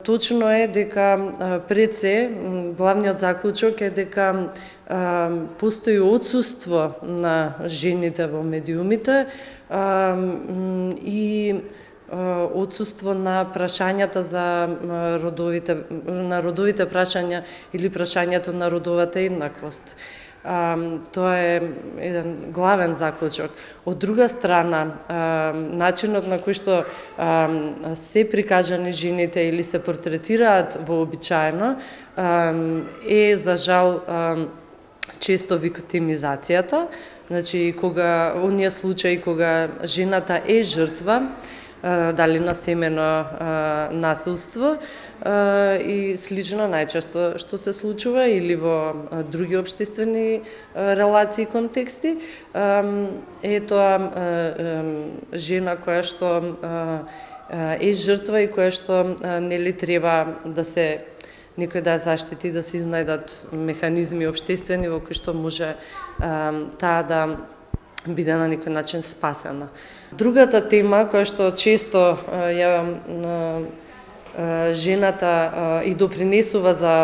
Точно е дека пред се главниот заклучок е дека постои отсуство на жените во медиумите и отсуство на прашањата за родовите прашања или прашањето на родовата еднаквост. Тоа е еден главен заклучок. Од друга страна, начинот на кој што се прикажани жените или се портретираат вообичаено е за жал често виктимизацијата. Значи, кога оние случаи кога жената е жртва, дали на семено насилство и слично најчесто што се случува или во други општествени релации и контексти, е тоа жена која што е жртва и која што нели треба да се некој да заштити, да се изнајдат механизми општествени во кои што може таа да биде на некој начин спасена. Другата тема која што често ја жената и допринесува за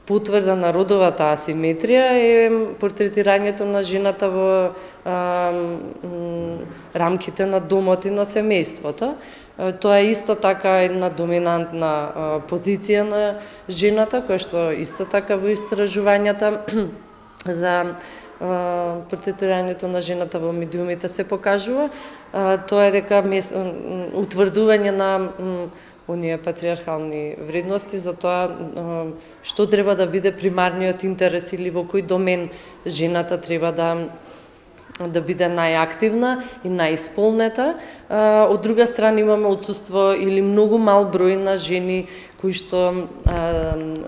потврда на родовата асиметрија е портретирањето на жената во рамките на домот и на семејството. Тоа е исто така една доминантна позиција на жената, која што исто така во истражувањата за портретирањето на жената во медиумите се покажува. Тоа е дека утврдување на оние патриархални вредности за тоа што треба да биде примарниот интерес или во кој домен жената треба да биде најактивна и најисполнета. Од друга страна имаме отсуство или многу мал број на жени кои што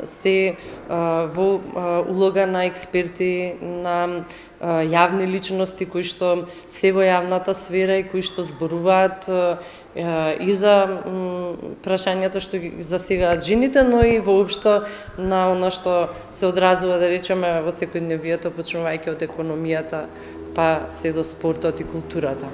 се во улога на експерти, на јавни личности кои што се во јавната сфера и кои што зборуваат и за прашањата што ги засегаат жените, но и воопшто на оно што се одразува, да речеме, во секојдневието, почнувајќи од економијата, па се до спортот и културата.